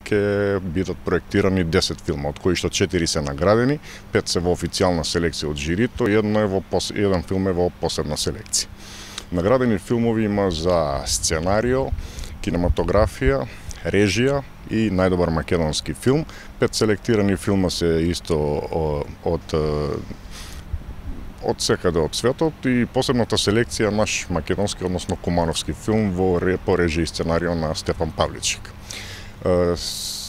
ќе бидат проектирани 10 филма, од кои што 4 се наградени, 5 се во официјална селекција од жирито, еден филм е во посебна селекција. Наградени филмови има за сценарио, кинематографија, режија и најдобар македонски филм. 5 селектирани филма се исто од секаде од светот и посебната селекција наш македонски, односно кумановски филм по режија и сценарио на Стефан Павличик.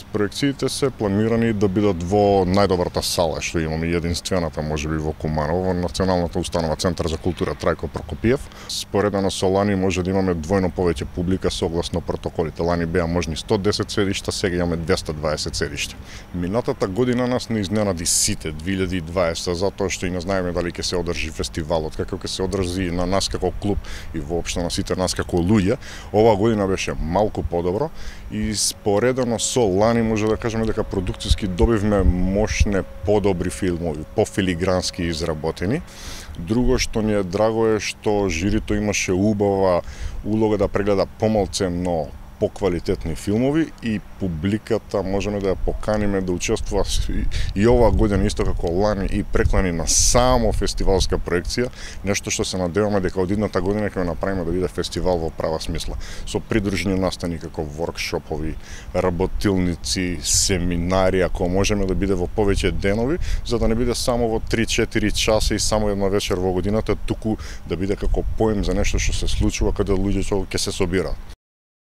Проекциите се планирани да бидат во најдобрата сала што имаме, единствената можеби во Куманово, во Националната установа Центар за култура Трајко Прокопиев. Споредено со лани може да имаме двојно повеќе публика согласно протоколите. Лани беа можни 110 седишта, сега имаме 220 седишта. Минатата година нас не изненади сите 2020 затоа што и не знаеме дали ќе се одржи фестивалот, како ќе се одржи на нас како клуб и воопшто на сите нас како луѓе. Оваа година беше малку подобро и споредено со лани може да кажеме дека продукцијски добивме мощне подобри филмови, пофилигрански изработени. Друго што ни е драго е што жирито имаше убава улога да прегледа помалценно поквалитетни филмови и публиката можеме да ја поканиме да учествува и оваа година исто како лани и преклани на само фестивалска проекција, нешто што се надеваме дека од идната година ќе го направиме да биде фестивал во права смисла, со придружни настани како воркшопови, работилници, семинари, ако можеме да биде во повеќе денови, за да не биде само во 3-4 часа и само една вечер во годината, туку да биде како поем за нешто што се случува каде луѓето ќе се собираат.